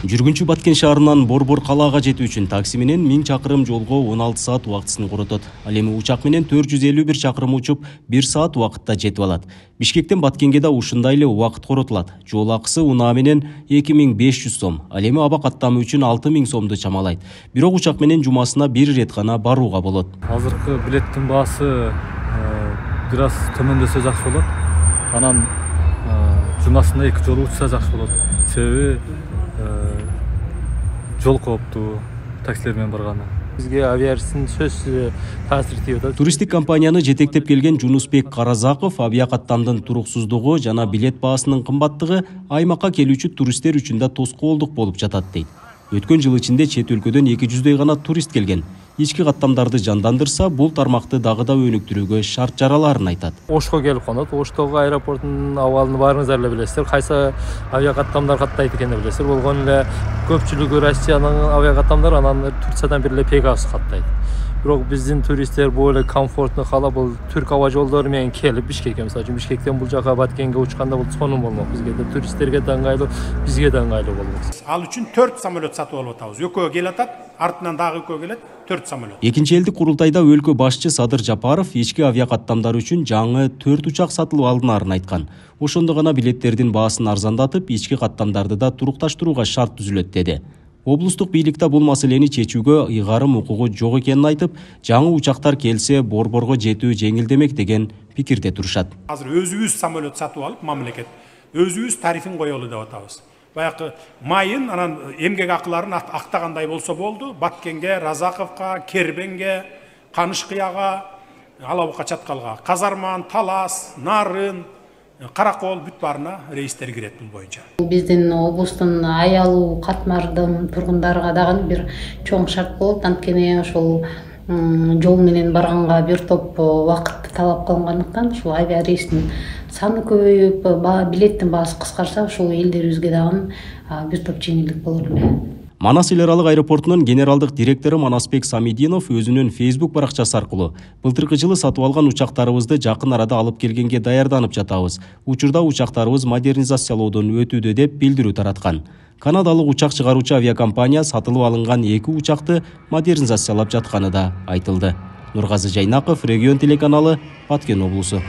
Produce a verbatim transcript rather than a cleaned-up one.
Жүргүнчү Баткен шаарынан Борбор калаага жетүү үчүн такси менен миң чакырым жолго он алты саат убактысын коротот. Ал эми учак менен төрт жүз элүү бир чакырым учуп, бир саат убакытта жетип алат. Бишкектен Баткенге да ушундай эле убакыт коротулат. Жол акысы унаа менен эки миң беш жүз сом, ал эми аба каттамы үчүн алты миң сомду чамалайт. Бирок учак менен жумасына бир ирет гана барууга болот. Азыркы билеттин баасы бир аз төмөндөсө жакшы болот. Анан жумасына эки жолу учса жакшы болот. Себеби жол кооптуу таксилер менен барганы. Бизге авиарийстин сөзсүз таасир тийип атат. Туристтик компанияны жетектеп келген Жунусбек Каразаков авиакаттамдын туруксуздугу жана билет баасынын кымбаттыгы аймакка келүүчү туристтер үчүн да тоскоолдук болуп жатат дейт. Өткөн жыл ичинде чет өлкөдөн эки жүздөй гана турист келген. Ички каттамдарды жандандырса, бул тармакты дагы да өнүктүрүүгө шарт жараларын айтат. Ошко келип конот. Оштогу аэропорттун абалын баарыңыздар эле билесиздер. Кайсы авиакаттамдар каттайт экенин билесиздер. Болгон эле көпчүлүгү Россиянын авиакаттамдары, анан Турциядан бир эле Пегас каттайт. Бирок биздин туристтер бул эле комфортну каалап, бул Түрк аба жолдору менен келип, Бишкекке, мисалы үчүн Бишкектен бул жака Баткенге учканда бул сонун болмок. Бизге да туристтерге да ыңгайлуу, бизге да ыңгайлуу болмок. Ал үчүн төрт самолет сатып алып атабыз. Экөө келатат, артынан дагы экөө келет, төрт самолет. Экинчи элдик курултайда өлкө башчы Садыр Жапаров ички авиакаттамдар үчүн жаңы төрт учак сатылып алынаарын айткан. Ошондо гана билеттердин баасын арзандатып, ички каттамдарды да турукташтырууга шарт түзүлөт деди. Облустук бийликте бул маселени чечүүгө ыйгарым укугу жок экенин айтып, жаңы учактар келсе Борборго жетүү жеңилдемек деген пикирде турушат. Азыр өзүбүз самолет сатып алып, мамлекет өзүбүз тарифин коелу деп атабыз. Баягы майын, анан эмгек акыларын актагандай болсо болду. Баткенге, Разаковго, Кербенге, Канышкыяга, Алабукка чаткалга, Казарман, Талас, Нарын, Каракол бүт баарына рейстер кирет бул боюнча. Биздин облустун аялуу катмардын тургундарга дагы бир чоң шарт болот. Анткени ошол жол менен барганга бир топ убакыт талап кылынгандыктан ушул авиарейстин саны көбөйүп, билеттин баасы кыскарса, ушул элдерибизге дагы бир топ жеңилдик болор эле. Манас эл аралык аэропортунун генералдык директору Манасбек Самидинов өзүнүн Facebook баракчасы аркылуу былтыркы жылы сатып алган учактарыбызды жакын арада алып келгенге даярданып жатабыз. Учурда учактарыбыз модернизациялоодон өтүүдө деп билдирүү тараткан. Канадалык учак чыгаруучу авиакомпания сатылып алынган эки учакты модернизациялап жатканы да айтылды. Нургазы Жайнаков, Регион телеканалы, Баткен облусу.